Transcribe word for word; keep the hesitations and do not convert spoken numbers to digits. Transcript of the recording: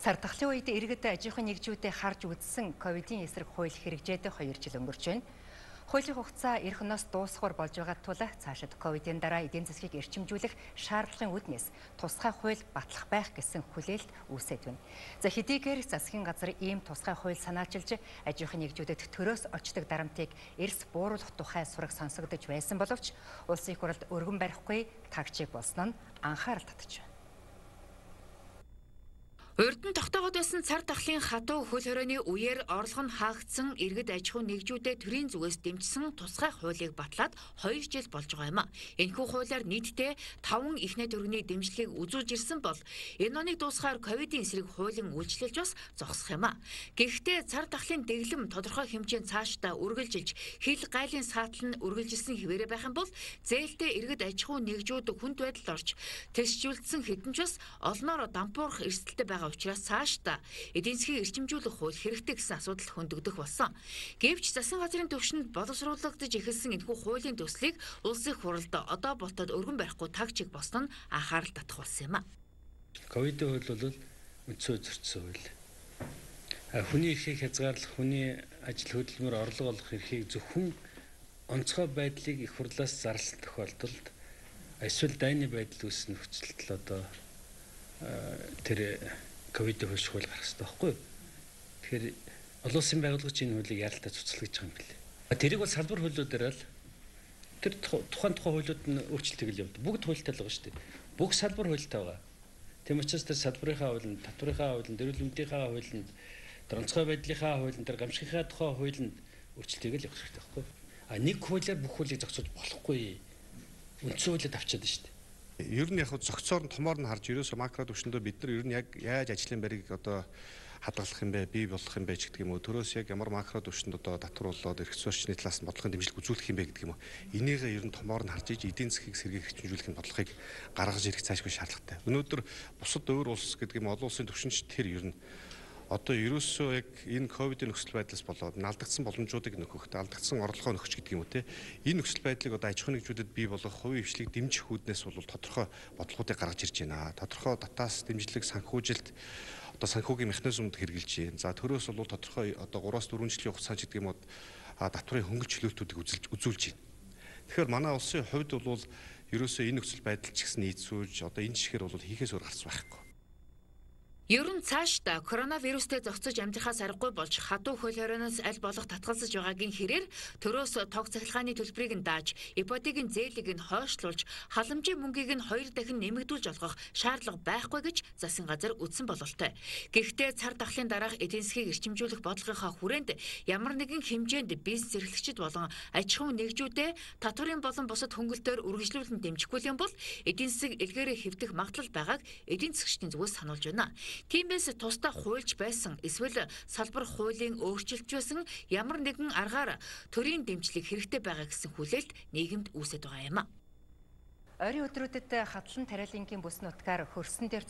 Цар тахлын үед иргэд аж ахуйн нэгжүүдэд харж үзсэн ковидын эсрэг хууль хэрэгжээд хоёр жил өнгөрч байна. Хуулийн хугацаа эх оноос дуусахаар болж байгаа тул цаашид ковидын дараа эдийн засгийг эрчимжүүлэх шаардлагын үүднээс тусгай хууль батлах байх гэсэн хүлээлт үүсээд байна. За хэдийгээр засгийн газар ийм тусгай хууль санаачилж аж ахуйн нэгжүүдэд төрөөс очдог дарамтыг эрс бууруулах тухай сураг сонсогдож байсан боловч улсын их хурлд өргөн барихгүй тагчиг болсон нь анхаарал татж байна. Урьдан тогтоогод байсан цар тахлын хатуу хөл хорионы үеэр орлого нь хаагдсан иргэд аж ахуйн нэгжүүдэд төрийн зүгээс дэмжсэн тусгай хуулийг батлаад хоёр жил болж байгаа юм а. Энэхүү хуулиар нийтдээ таван ихнэ төрөний дэмжлэгийг үзүүлж ирсэн бол энэ оныг дуусгаар ковидын эсрэг хуулийн үйлчлэлж бас зогсох юм а. Гэхдээ цар тахлын дэглэм тодорхой хэмжээнд цаашдаа үргэлжилж хил гайлын саатал нь үргэлжилсэн хэвээрээ байх юм бол зээлтэй иргэд аж ахуйн нэгжүүд хүнд байдалд орж тэгшжүүлсэн хэдэн ч бас олноор дампуурах эрсдэлтэй байгаа учраас цаашдаа эдийн засгийг эрчимжүүлэх хууль хэрэгтэй гэсэн асуудал хөндөгдөх болсон. Гэвч засгийн газрын түвшинд боловсруулагдаж эхэлсэн энэхүү хуулийн төслийг улсын их хурлд одоо болтод өргөн барихгүй тагчиг болсон нь анхаарал татах болсон юм а. Ковидын хууль бол үндсэн зөрчсөн хууль. Хүний эрхийг хязгаарлах, хүний ажил хөдөлмөр орлого олох эрхийг зөвхөн онцгой байдлыг их хурлаас зарласан тохиолдолд эсвэл дайны байдал үүснэ нөхцөлд одоо тэр ковидын хууль хууль гарах хэрэгтэй байхгүй юу? Тэгэхээр олон улсын байгууллагч энэ хуулийг яаралтай цуцлагдж байгаа юм билээ. Тэрийг бол салбар хуулиудаар л тэр тухайн тухайн хуулиуд нь өөрчлөлтийг л явуулдаг. Бүгд хуультай л байгаа шүү дээ. Бүх салбар хуультай байгаа. Тийм учраас тэр салбарынхаа хуулинд, татврынхаа хуулинд, эрүүл мэндийнхаа хуулинд, онцгой байдлынхаа хуулинд, тэр гамшигынхаа тухай хуулинд өөрчлөлтийг л явуулах хэрэгтэй байхгүй юу? А нэг хуулиар бүх хуулийг зохицуулж болохгүй. Үндсэн хуулиуд авчаад байна шүү дээ. Ер нь яг зохицоор нь томоор нь харж ерөөсө макро түвшиндөө бид нар ер нь яг яаж ажлын байрыг одоо хадгалах юм бэ, бий болгох юм бэ гэдэг юм уу. Төрөөс яг ямар макро түвшинд одоо татварлуулаад эрх зүйчний талаас нь бодлогын дэмжлэг үзүүлэх юм бэ гэдэг юм уу. Энийгээ ер нь томоор нь харж иж эдийн засгийг сэргээх хэрэгжүүлэх бодлогыг гаргаж ирэх цаашгүй шаардлагатай. Өнөөдөр бусад өөр улс гэдэг юм олон улсын түвшинч тэр ер нь одоо ерөөсөө яг энэ ковидын нөхцөл байдлаас болоод алдагдсан боломжуудыг нөхөх, алдагдсан орлогоо нөхч гэдэг юм уу те. Энэ нөхцөл байдлыг одоо аж ахуйн нэгжүүдэд бий болгох хувийн хвшлийг дэмжих үүднээс бол тодорхой бодлогуудыг гаргаж ирж байна. Тодорхой дотоос дэмжлэг санхүүжилт одоо санхүүгийн механизмд хэрэгжилж байна. За төрөөс бол тодорхой одоо гураас дөрвөн жилийн хугацаанд гэдэг юм уу татврын хөнгөлт чөлөөтүүдийг үзүүлж үзүүлж байна. Тэгэхээр манай улсын хувьд бол ерөөсөө энэ нөхцөл байдал ч гэсэн нийцүүлж одоо энэ жишгээр бол хийхээс өөр гарц байхгүй. Ер нь цаашдаа коронавирустэй зохицож амьдрахаас аргагүй болж хатуу хөл хорионоос аль болох татгалзаж байгаагийн хэрээр төрөөс тог цахилгааны төлбөрийг нь дааж, ипотекийн зээлийг нь хойшлуулж, халамжийн мөнгийг нь хоёр дахин нэмэгдүүлж олгох шаардлага байхгүй гэж засгийн газар үздсэн бололтой. Гэхдээ цар тахлын дараах эдийн засгийг эрчимжүүлэх бодлогынхаа хүрээнд ямар нэгэн хэмжээнд бизнес эрхлэгчид болон аж ахуйн нэгжүүдэд татврын болон бусад хөнгөлтөөр үргэлжлүүлэн дэмжихгүй юм бол эдийн засаг илгээрээ хэвдэх магадлал байгааг эдийн засгчдын зүгээс сануулж байна. Тиймээс тусдаа хуульч байсан эсвэл салбар хуулийн өөрчлөлт байсан ямар нэгэн аргаар төрийн дэмжлэг хэрэгтэй байгаа гэсэн хүлээлт нийгэмд үүсэж байгаа юм а. Ойрын өдрүүдэд хадлан тариалангийн бүс нутгаар хөрсөн дээр